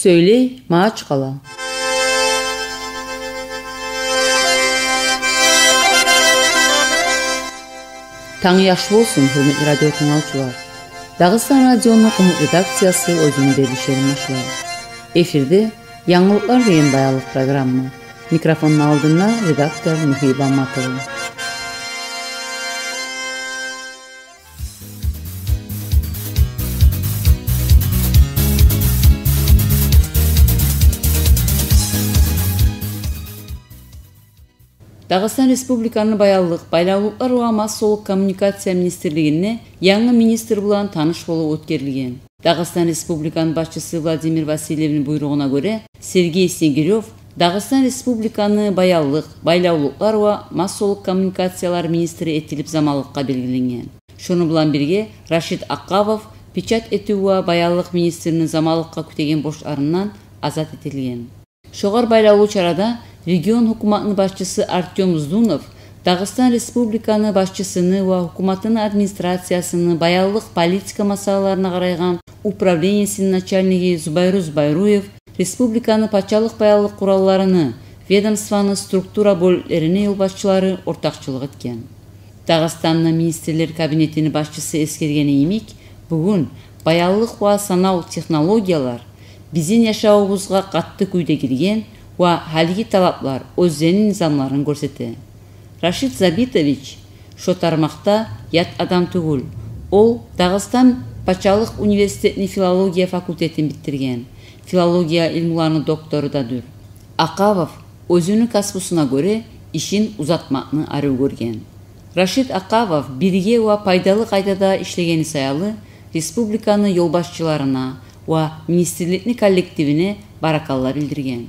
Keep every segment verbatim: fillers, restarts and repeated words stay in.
Сёйлей Магьачкъала. Танг яхшы болсун, гьюрметли радио тынглавчулар. Дагъыстан радиону къумукъ редакциясы оьзюню берилишин башлай. Эфирде «Янгылыкълар» деген баянлыкъ программа. Микрофонну алдында редактор Михаил Баматов. Дагъыстан Республиканы баянлыкъ, байлавлукълар ва массалыкъ коммуникация министрлигинде янгы министр булан таныш болув оьтгерилген. Дагъыстан Республиканы башчысы Владимир Васильевни буйругъуна гёре, Сергей Снегирёв Дагъыстан Республиканы баянлыкъ, байлавлукълар ва массалыкъ коммуникациялар министри этилип заманлыкъгъа белгиленген. Шону булан бирге Рашид Акъабов печать этив ва баянлыкъ министрини заманлыкъгъа кютеген борчларындан азат этилген. Шогъар байлавлу чарада регион гьукуматыны башчысы Артём Здунов Дагъыстан Республиканы башчысыны ва гьукуматыны администрациясыны баянлыкъ политика масъалаларына къарайгъан управлениесини начальниги Зубайру Зубайруев республиканы пачалыкъ баянлыкъ къуралларыны, ведомствоны структура бёлюклерини ёлбашчылары ортакъчылыкъ этген. Дагъыстанны министрлер кабинетини башчысы эсгергени йимик, бугюн баянлыкъ ва санав технологиялар бизин яшавубузгъа къатты кюйде гирген ва гьалиги талаплар оьзлени низамларын гёрсете. Рашид Забитович шо тармакъда ят адам тюгюл. Ол Дагъыстан пачалыкъ университетини филология факультетин битдирген, филология илмуланы доктору да дюр. Акъабов оьзюню касбусуна гёре ишин узатмакъны арив гёрген. Рашид Акъабов бирге ва пайдалы къайдада ишлегени саялы республиканы ёлбашчыларына ва министрликни коллективине баракалла билдирген.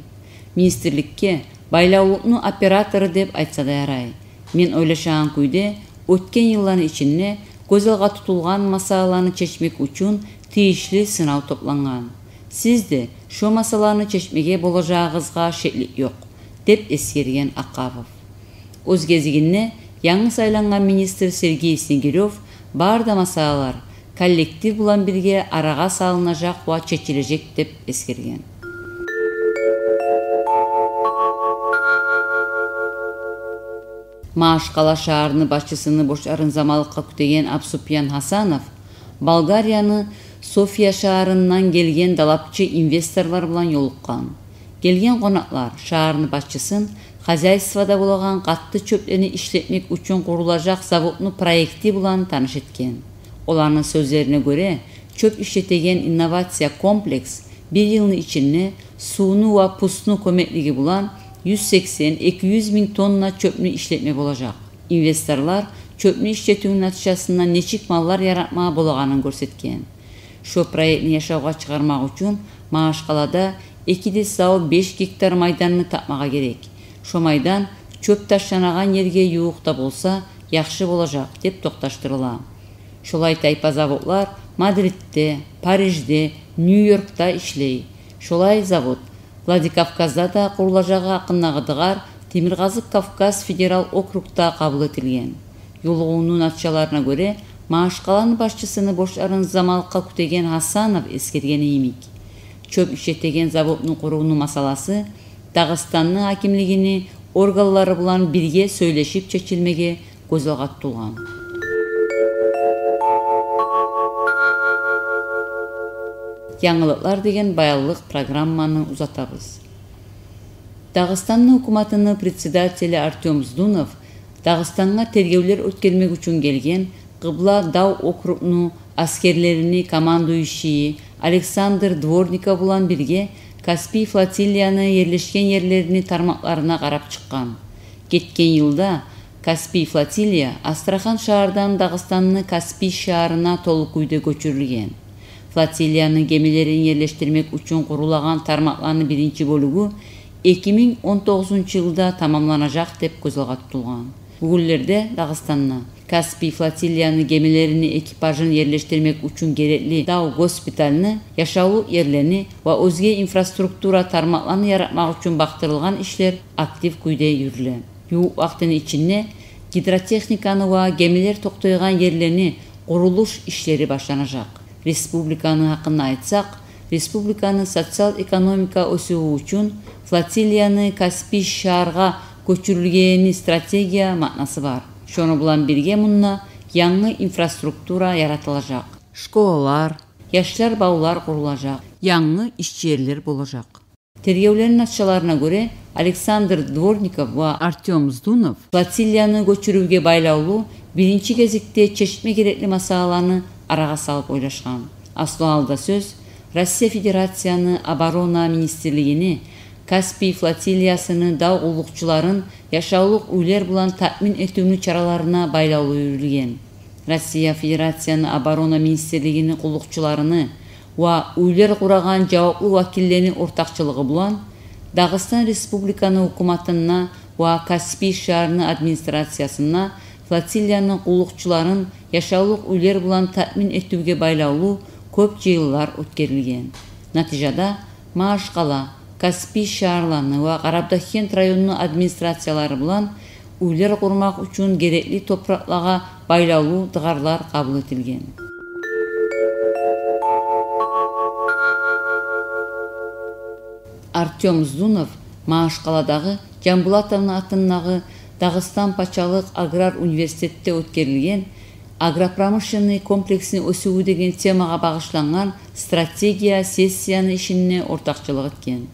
Министрликге байлавлукъну оператору деп айтса да ярай. Мен ойлашагъан кюйде, оьтген йылланы ичинде гёз алгъа тутулгъан масъалаланы чечмек учун тийишли сынав топлангъан. Сиз де шо масъалаланы чечмеге болажагъыгъызгъа шеклик ёкъ, деп эсгерген Акъабов. Оьз гезигинде янгы сайлангъан министр Сергей Снегирёв бары да масъалалар коллектив булан бирге арагъа салынажакъ ва чечилежек деп эсгерген. Магьачкъала шагьарыны башчысыны борчларын заманлыкъгъа кютеген Абусупиян Гьасанов Болгарияны София шагьарындан гелген далапчы инвесторлар булан ёлукъгъан. Гелген къонакълар шагьарны башчысын хозяйствода болагъан къатты чёплени ишлетмек учун къурулажакъ заводну проекти булан таныш этген. Оланы сёзлерине гёре, чёп ишлетеген инновация комплекс бир йылны ичинде сувну ва пустну кёмеклиги булан юз сексен, эки юз минг тонна чёпню ишлетме болажакъ. Инвесторлар чёпню ишлетивню натижасында нечик маллар яратма болагъанын гёрсетген. Шо проектни яшавгъа чыгъармакъ учун Магьачкъалада эки де сав беш гектар майданны тапмагъа герек. Шо майдан чёп ташланагъан ерге ювукъда болса, яхшы болажакъ, деп токъташдырыла. Шолай тайпа заводлар Мадридде, Парижде, Нью-Йоркда ишлей. Шолай завод Владикавказда да къурулажагъы гьакъындагъы дыгъар Темиркъазыкъ Кавказ федерал округда къабул этилген. Ёлугъувну натижаларына гёре, Магьачкъаланы башчысыны борчларын заманлыкъгъа кютеген Гьасанов эсгергени йимик, чёп ишлетеген заводну къурувну масъаласы Дагъыстанны гьакимлигини органлары булан бирге сёйлешип чечилмеге гёз алгъа тутулгъан. «Янгылыкълар» деген баянлыкъ программаны узатабыз. Дагъыстанны гьукуматыны председатели Артём Здунов Дагъыстангъа тергевлер оьтгермек учун гелген Къыбла дав округну аскерлерини командующийи Александр Дворников булан бирге Каспий флотилияны ерлешген ерлерини тармакъларына къарап чыкъгъан. Гетген йылда Каспий флотилия Астрахан шагьардан Дагъыстанны Каспий шагьарына толу кюйде гёчюрюлген. Флотилияны гемилерин ерлешдирмек учун къурулагъан тармакъланы биринчи бёлюгю эки минг он тогъузунчу йылда тамамланажакъ деп гёз алгъа тутулгъан. Бугюнлерде Дагъыстанда Каспий флотилияны гемилерини экипажын ерлешдирмек учун герекли дав госпитальны, яшавлукъ ерлени ва оьзге инфраструктура тармакъланы яратмакъ учун бакътырылгъан ишлер актив кюйде юрюле. Ювукъ вакътини ичинде гидротехниканы ва гемилер токътайгъан ерлени къурулуш ишлери башланажакъ. Республиканы гьакъында айтсакъ, Республиканы социал-экономика оьсювю учун флотилияны Каспий шагьаргъа гёчюрюлгени стратегия маънасы бар. Шону булан бирге мунда янгы инфраструктура яратылажакъ. Школалар, яшлар бавлар къурулажакъ, янгы иш ерлер болажакъ. Тергевлени натижаларына гёре, Александр Дворников ва Артём Здунов флотилияны гёчюрювге байлавлу биринчи гезикде чечме герекли масъалаланы арагъа салып ойлашгъан. Аслу гьалда сёз Россия Федерацияны оборона министрлигини Каспий флотилиясыны дав къуллукъчуларын яшавлукъ уьйлер булан таъмин этивню чараларына байлавлу юрюлген. Россия Федерацияны оборона министрлигини къуллукъчуларыны ва уьйлер къурагъан жаваплы вакиллени ортакъчылыгъы булан Дагъыстан Республиканы гьукуматында ва Каспий шагьарны администрациясында флотилияны къуллукъчуларын яшавлукъ уьйлер булан таъмин этивге байлавлу кёп жыйынлар оьтгерилген. Натижада Магьачкъала, Каспий шагьарланы ва Къарабудагъгент районну администрациялары булан уьйлер къурмакъ учун герекли топуракълагъа байлавлу дыгъарлар къабул этилген. Артём Здунов Магьачкъаладагъы Жамбулатовну атындагъы Дагъыстан пачалыкъ аграр университетде оьтгерилген «Агропромышленный комплексни оьсювю» деген темагъа багъышлангъан стратегия сессияны ишинде ортакъчылыкъ этген.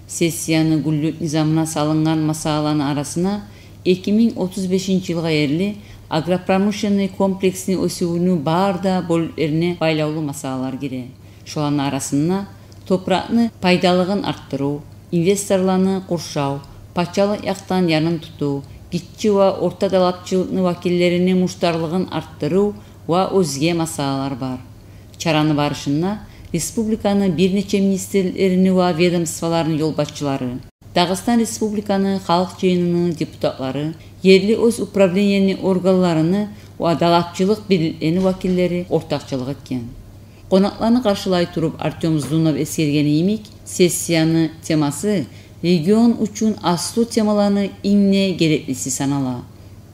Сессияны гюнлюк низамына салынгъан масъалаланы арасына эки минг отуз бешинчи йылгъа ерли агропромышленный комплексни оьсювню бары да бёлюклерине байлавлу масъалалар гире. Шоланы арасында топуракъны пайдалылыгъын артдырыв, инвесторланы къуршав, пачалыкъ якъдан янын тутув, гиччи ва орта талапчылыкъны вакиллерини муштарлыгъын артдырыв ва оьзге масъалалар бар. Чараны барышында республиканы бир нече министрликни ва ведомстволарыны ёлбашчылары, Дагъыстан Республиканы Халкъ Жыйыныны депутатлары, ерли оьз управленияны органларыны ва талапчылыкъ бирликлени вакиллери ортакъчылыкъ этген. Къонакъланы къаршылай туруп Артём Здунов эсгергени йимик, сессияны темасы регион учун аслу темаланы инг де гереклиси санала.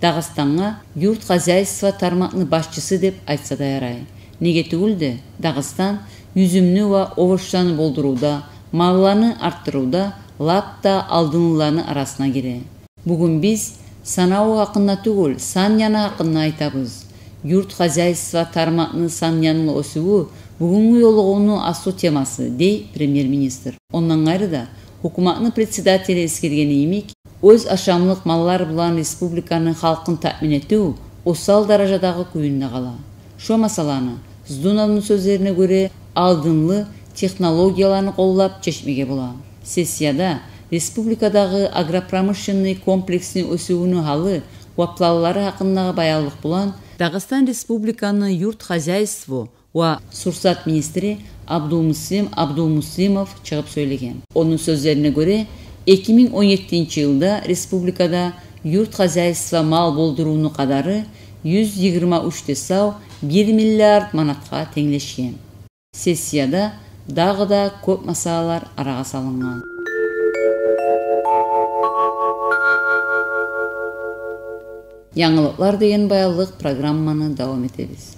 Дагъыстангъа юрт хозяйство тармакъны башчысы деп айтса да ярай. Неге тюгюл де, Дагъыстан юзюмню ва овучланы болдурувда, малланы артдырывда лап да алдынлыланы арасына гире. Бугюн биз санаву гьакъында тюгюл, сан яны гьакъында айтабыз. Юрт хозяйство тармакъны сан янлы оьсювю бугюнгю ёлугъувну аслу темасы, дей премьер-министр. Ондан къайры да, гьукуматны председатели эсгергени йимик, оьз ашамлыкъ маллар булан республиканы халкъын таъмин этив осал даражадагъы кююнде къала. Шо масъаланы, Здуновну сёзлерине гёре, алдынлы технологияланы къоллап чечмеге бола. Сессияда республикадагъы агропромышленный комплексни оьсювню гьалы ва планлары гьакъындагъы баянлыкъ булан Дагъыстан Республиканы юрт хозяйство ва сурсат министри Абдулмуслим Абдулмуслимов чыгъып сёйлеген. Ону сёзлерине гёре, эки минг он еттинчи йылда республикада юрт хозяйство мал болдурувну къадары юз йигирма уьч де сав бир миллиард манатгъа тенглешген. Сессияда дагъы да кёп масъалалар арагъа салынгъан. Янгылыкълар деген баянлыкъ программаны давам этебиз.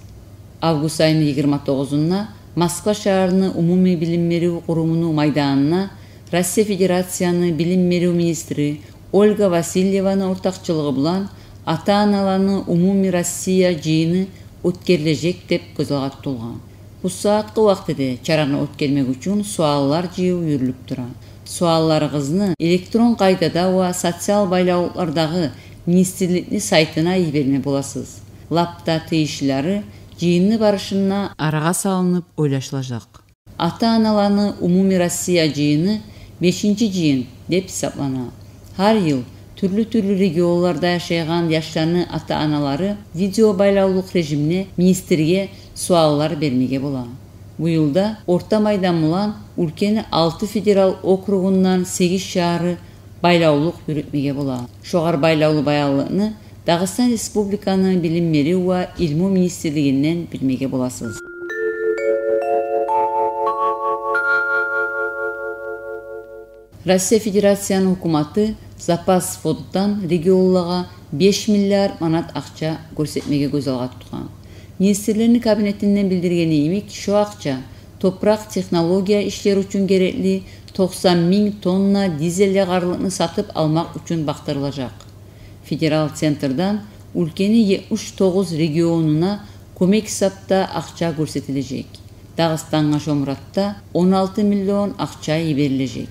Август айны йигирма тогъузунда Москва шагьарны умумий билим берив къурумуну майданына Россия Федерацияны билим берив министри Ольга Васильеваны ортакъчылыгъы булан ата-аналаны умумий Россия жыйыны оьтгерилежек деп гёз алгъа тутулгъан. Бу сагьатгъы вакътиде чараны оьтгермек учун суаллар жыйыв юрюлюп тура. Суалларыгъызны электрон къайдада ва социал байлавлукълардагъы министрликни сайтына йиберме боласыз. Лап да тийишлилери жыйынны барышында арагъа салынып ойлашылажакъ. Ата-аналаны умумий Россия жыйыны бешинчи жыйын деп гьисаплана. Гьар йыл тюрлю-тюрлю регионларда яшайгъан яшланы ата-аналары видео байлавлукъ режимде министрге суаллар бермеге бола. Бу йылда Орта майдан булан уьлкени алты федерал округундан сегиз шагьары байлавлукъ юрютмеге бола. Шогъар байлавлу баянлыкъны Дагъыстан Республиканы билим берив ва илму министрлигинден билмеге боласыз. Россия Федерацияны гьукуматы запас фонддан регионлагъа беш миллиард манат акъча гёрсетмеге гёз алгъа тутгъан. Министрлени кабинетинден билдиргени йимик, шо акъча Топуракъ технология ишлери учун герекли токъсан минг тонна дизель ягъарлыкъны сатып алмакъ учун бакъдырылажакъ. Федерал центрден уьлкени етмиш тогъуз регионуна кёмек гьисапда акъча гёрсетилежек. Дагъыстангъа шо муратда он алты миллион акъча йиберилежек.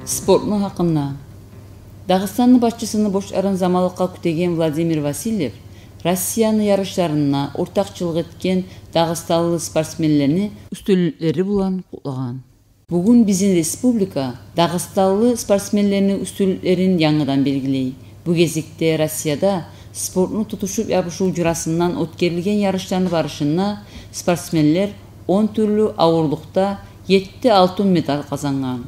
Спортну гьакъында. Дагъыстанны башчысыны борчларын заманлыкъгъа кютеген Владимир Васильев Россияны ярышларына ортакъчылыкъ этген дагъыстанлы спортсменлени уьстюнлюклери булан къутлагъан. Бугюн бизин республика дагъыстанлы спортсменлени уьстюнлюклерин янгыдан белгилей. Бу гезикде Россияда спортну тутушуп ябушув журасындан оьтгерилген ярышланы барышында спортсменлер он тюрлю авурлукъда етти алтын медаль къазангъан.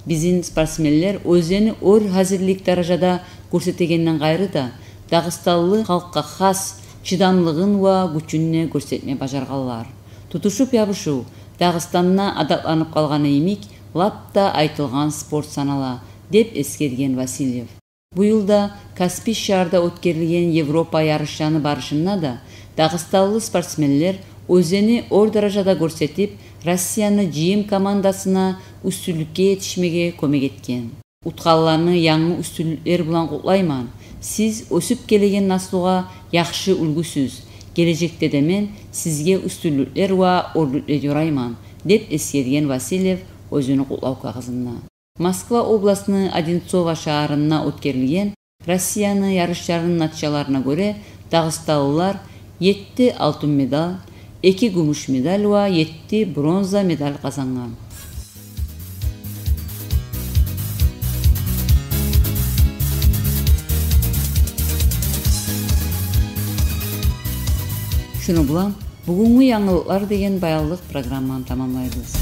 Бизин спортсменлер оьзлени оьр гьазирлик даражада гёрсетегенден къайры да, дагъыстанлы халкъгъа хас чыдамлыгъын ва гючюн де гёрсетме бажаргъанлар. Тутушуп ябушув Дагъыстанда адатланып къалгъаны йимик, лап да айтылгъан спорт санала, деп эсгерген Васильев. Бу йыл да Каспий шагьарда оьтгерилген Европа ярышланы барышында да дагъыстанлы спортсменлер оьзлени оьр даражада гёрсетип, Россияны жыйым командасына уьстюнлюкге етишмеге кёмек этген. Утгъанланы янгы уьстюнлюклер булан къутлайман. Сиз оьсюп гелеген наслугъа яхшы уьлгюсюз. Гележекде де мен сизге уьстюнлюклер ва оьрлюклер ёрайман, деп эсгерген Васильев оьзюню къутлав кагъызында. Москва областны Одинцово шагьарында оьтгерилген Россияны ярышларыны натижаларына гёре, дагъыстанлылар етти алтын медаль, эки гюмюш медаль ва етти бронза медаль къазангъан. Шуну булан бугюнгю «Янгылыкълар» деген баянлыкъ программаны тамамлайбыз.